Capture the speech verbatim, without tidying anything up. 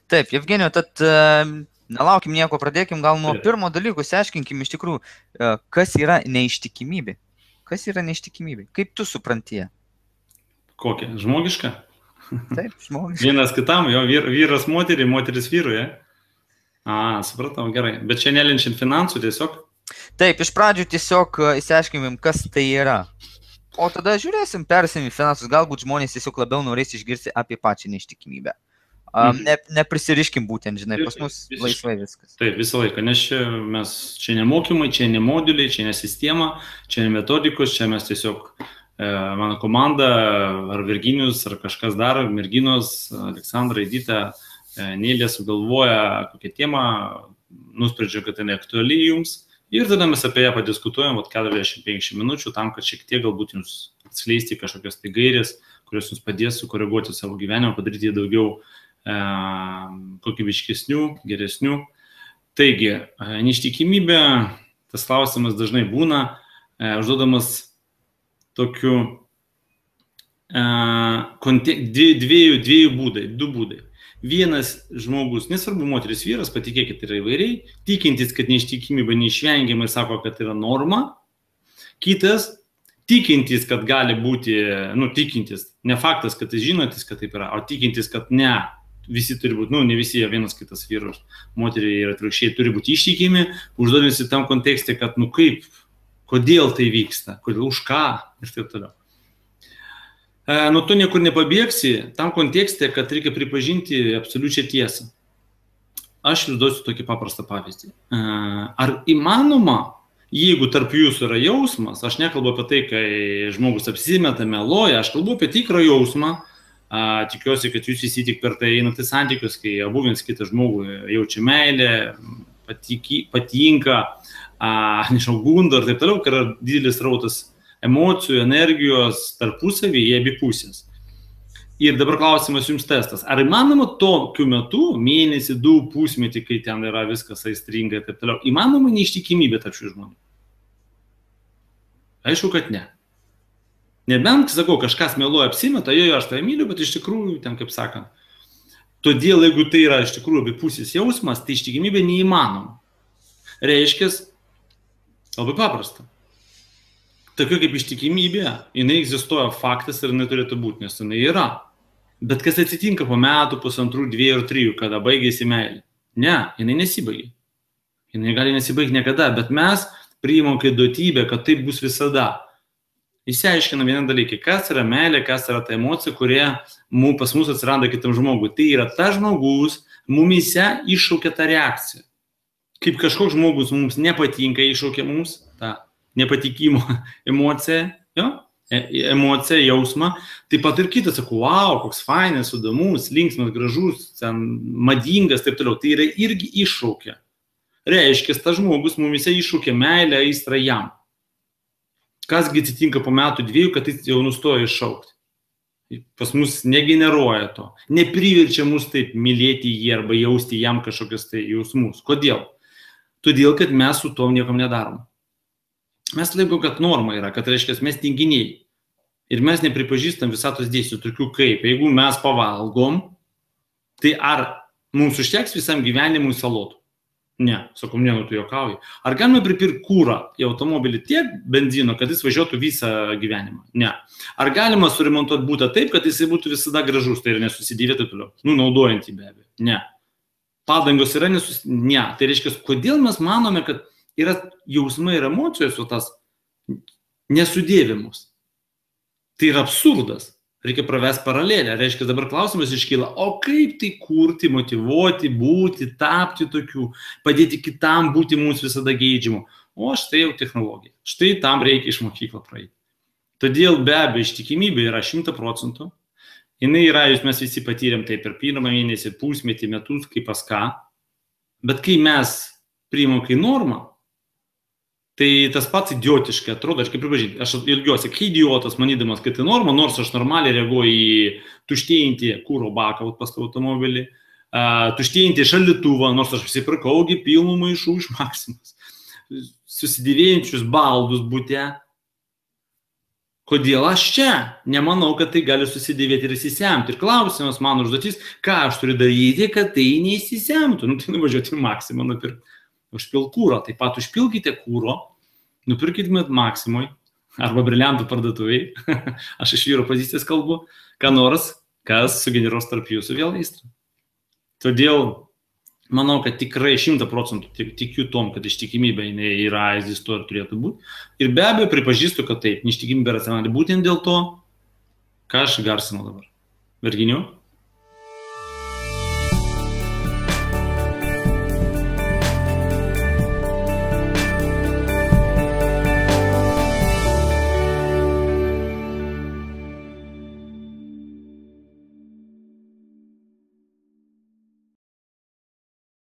Taip, Jevgenijau, tad uh, nelaukim nieko, pradėkim gal nuo pirmo dalyko, išsiaiškinkim iš tikrųjų, uh, kas yra neištikimybė. Kas yra neištikimybė? Kaip tu supranti ją? Kokia? Žmogiška? Taip, žmogiška. Vienas kitam, jo vyr, vyras moterį, moteris vyrui, ja? A, supratau, gerai. Bet čia nelinčiant finansų tiesiog? Taip, iš pradžių tiesiog išsiaiškinkim, kas tai yra. O tada žiūrėsim, persim į finansus, galbūt žmonės tiesiog labiau norės išgirsti apie pačią neištikimybę. Um, ne, neprisiriškim būtent, žinai, pas mus Visiškai. Laisvai viskas. Taip, visą laiką, nes čia mes, čia ne mokymai, čia ne moduliai, čia ne sistema, čia ne metodikos, čia mes tiesiog, e, mano komanda, ar Virginijus, ar kažkas dar, merginos, Aleksandra, Edita, e, Nėlė sugalvoja kokią temą, nusprendžia, kad tai neaktuali jums. Ir tada mes apie ją padiskutuojam keturiasdešimt penkiasdešimt minučių tam, kad šiek tiek galbūt jums atskleisti kažkokias tai gairės, kurios jums padės sukoreguoti savo gyvenimą, padaryti daugiau e, kokybiškesnių, geresnių. Taigi, e, neištikimybė, tas klausimas dažnai būna e, užduodamas tokiu e, dviejų, dviejų būdai, du būdai. Vienas žmogus, nesvarbu moteris vyras, patikėkit, yra įvairiai, tikintis, kad neištikimybė neišvengiamai sako, kad yra norma. Kitas, tikintis, kad gali būti, nu, tikintis, ne faktas, kad jis žinotis, kad taip yra, o tikintis, kad ne, visi turi būti, nu, ne visi, vienas kitas vyras, moteriai ir atvirkščiai turi būti ištikimi, užduodamasi tam kontekste, kad, nu, kaip, kodėl tai vyksta, kodėl, už ką ir taip toliau. Nuo to niekur nepabėgsi, tam kontekste, kad reikia pripažinti absoliučią tiesą. Aš jūs duosiu tokį paprastą pavyzdį. Ar įmanoma, jeigu tarp jūsų yra jausmas, aš nekalbu apie tai, kai žmogus apsimeta, meluoja, aš kalbu apie tikrą jausmą, tikiuosi, kad jūs visi tik per tai einate santykius, kai abu vienas kitą žmogų jaučia meilę, patiki, patinka, nežinau, gundo ir taip toliau, kai yra didelis rautas emocijų, energijos tarpusavį į abi pusės. Ir dabar klausimas jums testas. Ar įmanoma tokiu metu, mėnesį, du, pusmetį, kai ten yra viskas aistringa ir taip toliau, įmanoma neištikimybė tarp šių žmonių? Aišku, kad ne. Nebent, sakau, kažkas meluoja apsimeta, jo, aš tai myliu, bet iš tikrųjų, ten kaip sakant. Todėl, jeigu tai yra iš tikrųjų abipusis jausmas, tai ištikimybė neįmanoma. Reiškia, labai paprasta. Tokia kaip ištikimybė, jinai egzistuoja faktas ir jinai turėtų būti, nes jinai yra. Bet kas atsitinka po metų, pusantrų, dviejų ir trijų, kada baigėsi meilė? Ne, jinai nesibaigia. Jinai gali nesibaigti niekada, bet mes priimam kaip duotybę, kad taip bus visada. Išsiaiškinam vieną dalyką, kas yra meilė, kas yra ta emocija, kurie pas mus atsiranda kitam žmogui. Tai yra ta žmogus, mumise iššaukia tą reakciją. Kaip kažkoks žmogus mums nepatinka, iššaukia mums tą nepatikimo emociją, jo? emociją, jausmą, taip pat ir kitas, sako, wow, koks fainas, įdomus, linksmas, gražus, ten, madingas, taip toliau, tai yra irgi iššaukia. Reiškia, tas žmogus mumise iššaukia meilę, aistrą jam. Kasgi atsitinka po metų dviejų, kad jis jau nustoja iššaukti. Pas mus negeneruoja to, nepriverčia mus taip mylėti jį arba jausti jam kažkokius tai jausmus. Kodėl? Todėl, kad mes su tom niekam nedarom. Mes laikom, kad norma yra, kad reiškia, mes tinginiai. Ir mes nepripažįstam visatos dėsnių, tokių kaip, jeigu mes pavalgom, tai ar mums užteks visam gyvenimui salotų? Ne, sakom, ne, nu tu juokauji. Ar galime pripirkti kūrą į automobilį tiek benzino, kad jis važiuotų visą gyvenimą? Ne. Ar galima suremontuoti būtą taip, kad jis būtų visada gražus, tai ir nesusidėvėtų toliau? Nu, naudojant jį be abejo. Ne. Padangos yra nesusidėvėtų? Ne. Tai reiškia, kodėl mes manome, kad yra jausmai ir emocijos, o tas nesudėvimus. Tai yra absurdas. Reikia pravesti paralelę. Reiškia, dabar klausimas iškyla, o kaip tai kurti, motyvuoti, būti, tapti tokių, padėti kitam būti mums visada geidžiamu. O štai jau technologija. Štai tam reikia iš mokyklą praeiti. Todėl be abejo ištikimybė yra šimta procentų. Jinai yra, jūs mes visi patyrėm tai per pirmą mėnesį, pusmetį, metus, kaip pas ką. Bet kai mes priimam kai normą, tai tas pats idiotiškai atrodo, aš kaip pripažinti, aš ilgiuosi, kai idiotas manydamas, kad tai norma, nors aš normaliai reaguoju į tuštėjantį kūro baką pas automobilį, uh, tuštėjantį šaldytuvą, nors aš prisipirkaugi pilnų maišų iš Maximas, susidėvėjančius baldus bute. Kodėl aš čia? Nemanau, kad tai gali susidėvėti ir įsisemti. Ir klausimas, mano užduotis, ką aš turiu daryti, kad tai neįsisemtų. Nu, tai nuvažiuoti į Maksimą, nupirkti. Užpilk kūro. Taip pat užpilkite kūro, nupirkite Maksimui arba briliantų parduotuviai. Aš iš vyro pozicijos kalbu, ką nors, kas sugeneruos tarp jūsų vėl aistrą. Todėl manau, kad tikrai šimtą procentų tikiu tom, kad ištikimybė yra, egzistuoja ir turėtų būti. Ir be abejo pripažįstu, kad taip, neištikimybė racionali būtent dėl to, ką aš garsinu dabar. Virginijau?